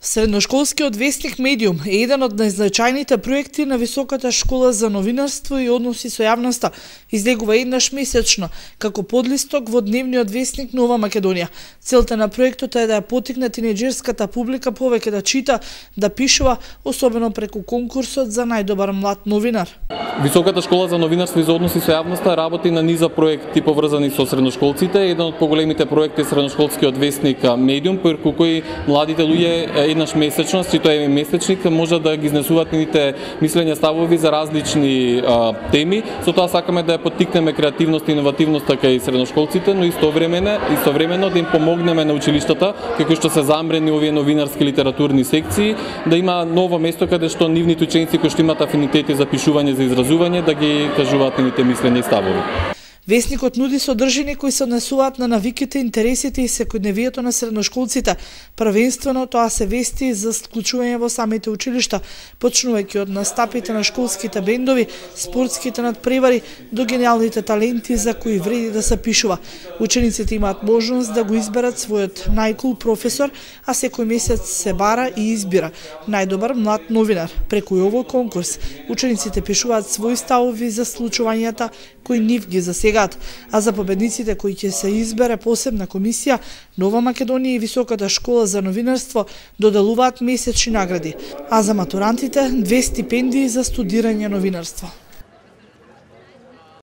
Средношколскиот весник Медиум е еден од најзначајните проекти на Високата школа за новинарство и односи со јавноста. Излегува еднаш месечно, како подлисток во дневниот весник Нова Македонија. Целта на проектот е да ја поттикне тинеџерската публика повеќе да чита, да пишува, особено преку конкурсот за најдобар млад новинар. Високата школа за новинарство и за односи со јавноста работи на низа проекти поврзани со средношколците. Еден од поголемите проекти е средношколскиот весник Медиум, преку кој младите луѓе еднаш месечно, си тоа е месечник, може да ги изнесуваат нивните мислења, ставови за различни теми. Со тоа сакаме да ја поттикнеме креативност и иновативност кај средношколците, но истовремено да им помогнеме на училиштата, како што се замрени овие новинарски литературни секции, да има ново место каде што нивните ученици кои што имаат афинитети за пишување, за изразување, да ги кажуваат нивните мислења и ставови. Весникот нуди содржини кои се однесуваат на навиките, интересите и секојдневието на средношколците. Првенствено тоа се вести за вклучување во самите училишта, почнувајќи од настапите на школските бендови, спортските надпревари до гениалните таленти за кои вреди да се пишува. Учениците имаат можност да го изберат својот најкул професор, а секој месец се бара и избира најдобар млад новинар. Преку овој конкурс учениците пишуваат своји ставови за случувањата кои нив ги засегаат, а за победниците кои ќе се избере посебна комисија, Нова Македонија и Високата школа за новинарство доделуваат месечни награди, а за матурантите 2 стипендии за студирање новинарство.